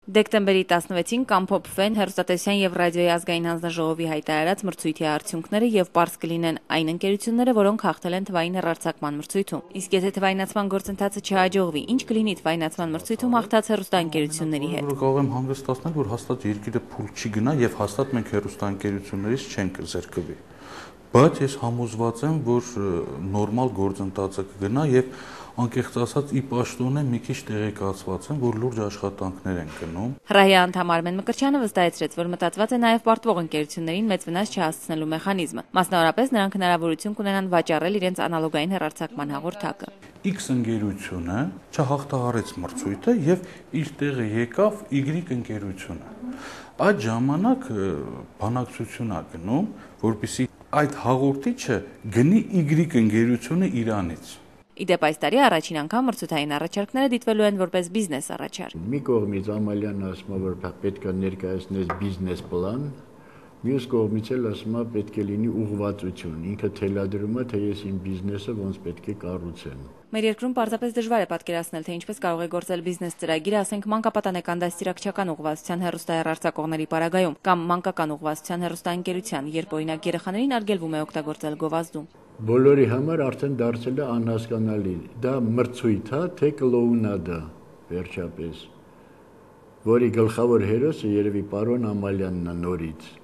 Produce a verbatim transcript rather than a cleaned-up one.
Դեկտեմբերի տասնվեցին կամփոփվեն հեռուստատեսության եւ ռադիոյի ազգային հանձնաժողովի հայտարարած մրցույթի արդյունքները եւ պարզ կլինեն այն ընկերությունները, որոնք հաղթել են թվային հեռարձակման մրցույթում։ Իսկ եթե թվայնացման գործընթացը չհաջողվի, ինչ կլինի թվայնացման մրցույթում հաղթած հեռուստաընկերությունների հետ։ Կարող եմ հանգստացնել, որ հաստատ երկիրը փուլ չի գնա եւ հաստատ մենք հեռուստաընկերություններից չենք զերկվի։ Բայց ես համոզված եմ, որ նորմալ գործընթացը կգնա եւ անկեղծ ասած ի պաշտոն է մի քիչ տեղեկացված եմ, որ լուրջ աշխատանքներ են գնում։ ՀՌԱՀ-ի անդամ Արմեն Մկրտչյանը վստահեցրեց, որ մտածված է նաեւ պարտվող ընկերություններին մեծ վնաս չհասցնելու մեխանիզմը։ Մասնավորապես նրանք հնարավորություն կունենան վաճառել իրենց անալոգային հեռարձակման հաղորդակը։ X ընկերությունը չհաղթահարեց մրցույթը եւ իր տեղը եկավ Y ընկերությունը։ Այդ ժամանակ բանակցություն ա գնում, որպեսզի այդ հաղորդիչը գնի Y ընկերությունը Իրանից։ Իդեպ այս տարի առաջին անգամ մրցութային առաջարկները դիտվելու են որպես բիզնես առաջարկ։ Մի կողմից Ամալյան ասում է, որ պետք է ներկայացնել բիզնես պլան, մյուս կողմից էլ ասում է պետք է լինի ուղղվածություն, ինքը թելադրում է, թե ես իմ բիզնեսը ոնց պետք է կառուցեմ։ Մեր երկրում պարզապես դժվար է պատկերացնել, թե ինչպես կարող է գործել բիզնես ծրագիրը, ասենք մանկապատանեկան դաստիարակչական ուղղվածության հեռուստահեռարձակողների պարագայում կամ մանկական ուղղվածության հեռուստաընկերության, երբ օրինակ երեխաներին արգելվում է օգտագործել գովազդում։ Բոլորի համար արդեն դարձել է անհասկանալի, դա մրցույթ է, թե կլոունադա, վերջապես, որի գլխավոր հերոսը երևի պարոն Ամալյանն է նորից։